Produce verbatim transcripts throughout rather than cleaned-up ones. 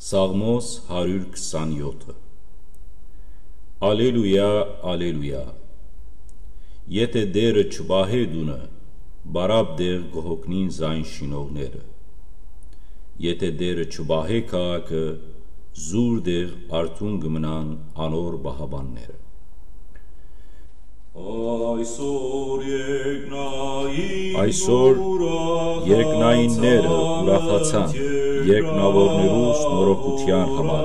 Սաղմոս հարիւր քսանեօթը։ Ալելույա, ալելույա։ Եթէ Տէրը չպահէ տունը, պարապ տեղ կը հոգնին զայն շինողները։ Եթէ Տէրը չպահէ քաղաքը, զուր տեղ արթուն կը մնան անոր պահապանները։ Այսօր երկնային Այսօր երկնայինները ուրախացան, երկնաւորներու նորոգութեան համար,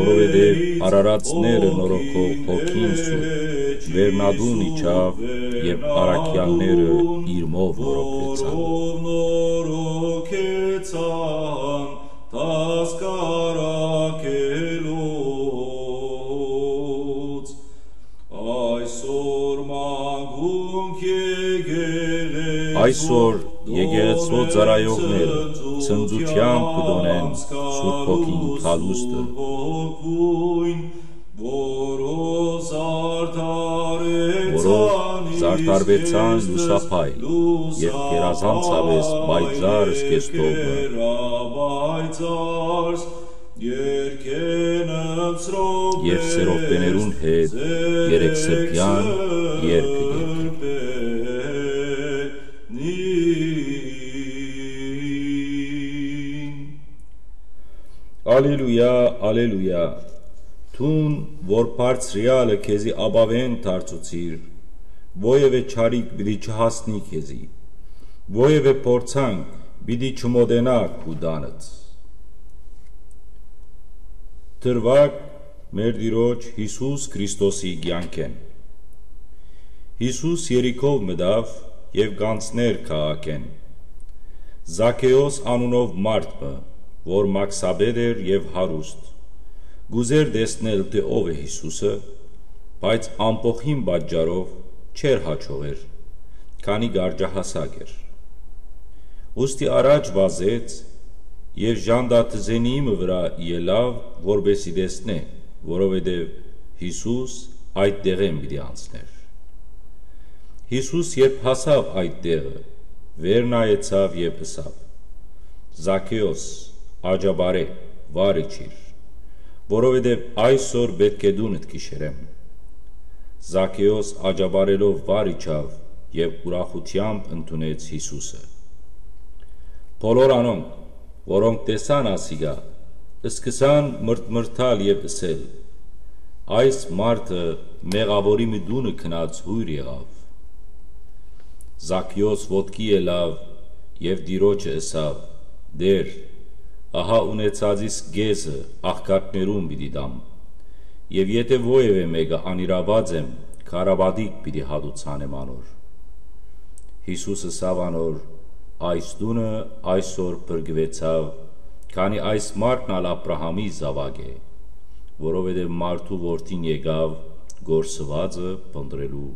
որովհետև արարածները նորոգող հոգին սուրբ վերնատուն իջաւ, եւ առաքեալները իրմով նորոգուեցան։ Տասկարակելոց այսօր մագունք եկեղեցու Այսօր եկեղեցու ծառայողները ցնծությամբ կը տոնեն Սուրբ Հոգին գալուստը, որով զարդարվեցան լուսափայլ եւ գերազանցապէս պայծառ զգեստով մը, եւ սերովպեներուն հետ երեք սրբեան երգը կերգեն։ Ալելույա, ալելույա։ Դուն, որ բարձրեալը քեզի ապաւէն դարձուցիր, որեւէ չարիք պիտի չհասնի քեզի, որեւէ փորձանք պիտի չմոտենայ քու տանդ։ Դրուագ մեր Տիրոջ Յիսուս Քրիստոսի կեանքէն։ Յիսուս Երիքով մտաւ եւ կ'անցնէր քաղաքէն։ Զաքէոս անունով մարդ մը, որ մաքսապետ էր եւ հարուստ, կ'ուզէր տեսնել թէ ով է Յիսուսը, բայց ամբոխին պատճառով չէր յաջողեր, քանի կարճահասակ էր։ Ուստի առաջ վազեց եւ ժանտատզենիի մը վրայ ելաւ, որպէս զի տեսնէ, որովհետեւ Յիսուս այդ տեղէն պիտի անցնէր։ Յիսուս երբ հասաւ այդ տեղը, վեր նայեցաւ եւ ըսաւ. «Զաքէոս, աջապարէ, վար իջիր, որովհետեւ այսօր պէտք է տունդ գիշերեմ»։ Զաքէոս աջապարելով վար իջաւ եւ ուրախութեամբ ընդունեց Յիսուսը։ Բոլոր անոնք, որոնք տեսան ասիկա, սկսան մրթմրթալ եւ ըսել. «Այս մարդը մեղաւորի մը տունը գնաց հոյր եղաւ»։ Զաքէոս ոտքի ելաւ եւ Տիրոջը ըսաւ. «Տէր, ահա ունեցածիս կէսը աղքատներուն պիտի տամ, եւ եթէ որեւէ մէկը անիրաւած եմ, քարապատիկ պիտի հատուցանեմ անոր»։ Յիսուս ըսաւ անոր. «Այս տունը այսօր փրկուեցաւ, քանի այս մարդն ալ Աբրահամի զաւակ է, որովհետեւ մարդու որդին եկաւ կորսուածը փնտռելու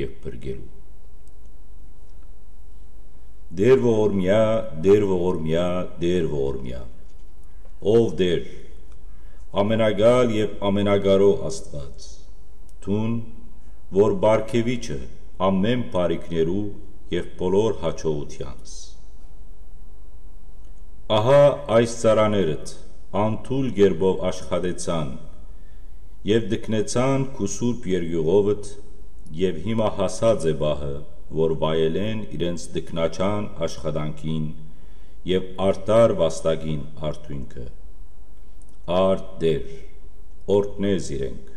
եւ փրկելու»։ Տէր ողորմեա, Տէր ողորմեա, Տէր ողորմեա։ Ով Տէր, ամենակալ եւ ամենակարող Աստուած, դուն, որ պարգեւիչը ամէն բարիքներու եւ բոլոր յաջողութեանց։ Ահա այս ծառաներդ անթույլ կերպով աշխատեցան եւ տքնեցան քու սուրբ երկիւղովդ, եւ հիմա հասած է պահը, որ վայելեն իրենց տքնաջան աշխատանքին եւ արդար վաստակին արդիւնքը։ Արդ Տէր, օրհնէ զիրենք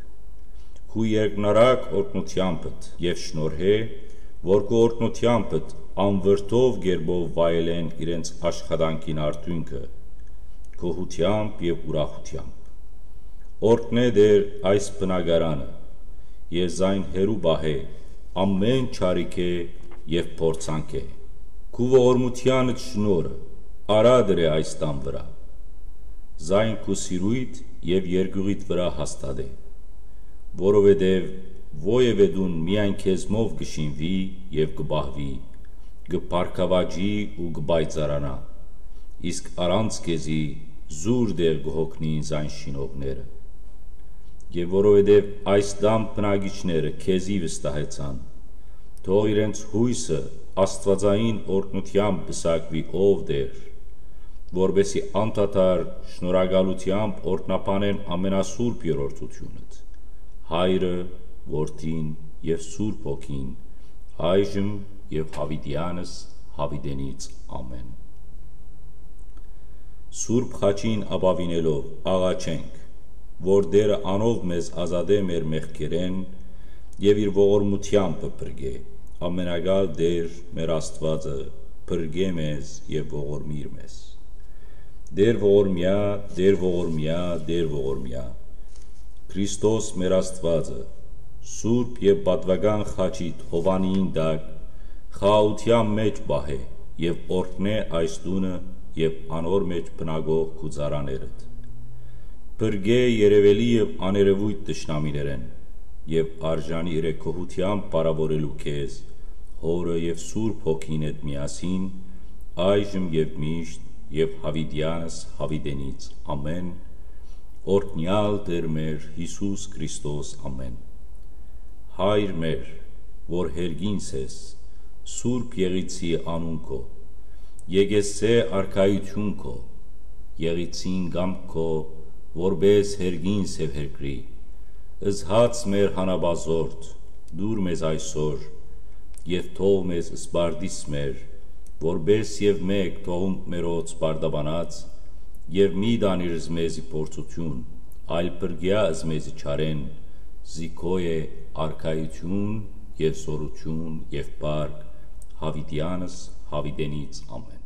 քու երկնառակ օրհնութեամբդ եւ շնորհէ, որ քու օրհնութեամբդ անվրդով կերպով վայելեն իրենց աշխատանքին արդիւնքը, գոհութեամբ եւ ուրախութեամբ։ Օրհնէ Տէր այս բնակարանը եւ զայն հեռու պահէ ամէն չարիքէ եւ փորձանքէ։ Քու ողորմութեանդ շնորհը արատր է այս տան վրայ, զայն քու սիրոյդ եւ երկիւղիդ վրայ հաստատէ, որովհետեւ որեւէ տուն միայն քեզմով կը շինուի եւ կը պահուի, կը բարգաւաճի ու կը պայծառանայ, իսկ առանց քեզի զուր տեղ կը հոգնին զայն շինողները։ Եւ որովհետեւ այս տան բնակիչները քեզի վստահեցան, Թող իրենց յոյսը աստուածային օրհնութեամբ պսակուի, ով Տէր, որպէսզի անդադար շնորհակալութեամբ օրհնաբանեն ամենասուրբ երրորդութիւնդ, Հայրը, Որդին եւ Սուրբ Հոգին, այժմ եւ յաւիտեանս յաւիտենից։ Ամէն։ Սուրբ Խաչին ապաւինելով՝ աղաչենք, որ Տէրը անով մեզ ազատէ մեր մեղքերէն եւ իր ողորմութեամբը փրկէ։ Ամենակալ Տէր, մեր Աստուածը, փրկէ մեզ եւ ողորմիր մեզ։ Տէր ողորմեայ, Տէր ողորմեայ, Տէր ողորմեայ, Քրիստոս մեր Աստուածը, Սուրբ եւ Պատուական Խաչիդ Յովանիին տակ խաղաղութեան մէջ պահէ եւ օրհնէ այս տունը եւ անոր մէջ բնակող քու ծառաներդ։ Փրկէ երեւելի եւ աներեւոյթ թշնամիներէն եւ արժանի իրե գոհութեամբ փառաւորելու քեզ, Հօրը եւ Սուրբ Հոգին հետ միասին, այժմ եւ միշտ եւ յաւիտեանս յաւիտենից։ Ամէն։ Օրհնեալ Տէր մեր Յիսուս Քրիստոս, ամէն։ Հայր մեր, որ հերգինս ես, Սուրբ Եղիցի անուն քո, եկեցցէ արքայութիւն քո, Եղիցին կամք քո, որպէս հերգինս եւ հերկրի, զհաց մեր հանապազորդ, տուր մեզ այսօր, եւ թող մեզ սպարտիս մեր, որպէս եւ մէկ թողունք մերոց պարտաբանած, եւ մի տանիր զմեզի փորձութիւն, այլ փրկեա զմեզի չարէն, զի քո է արքայութիւն եւ զօրութիւն եւ փառք, յաւիտեանս յաւիտենից։ Ամէն։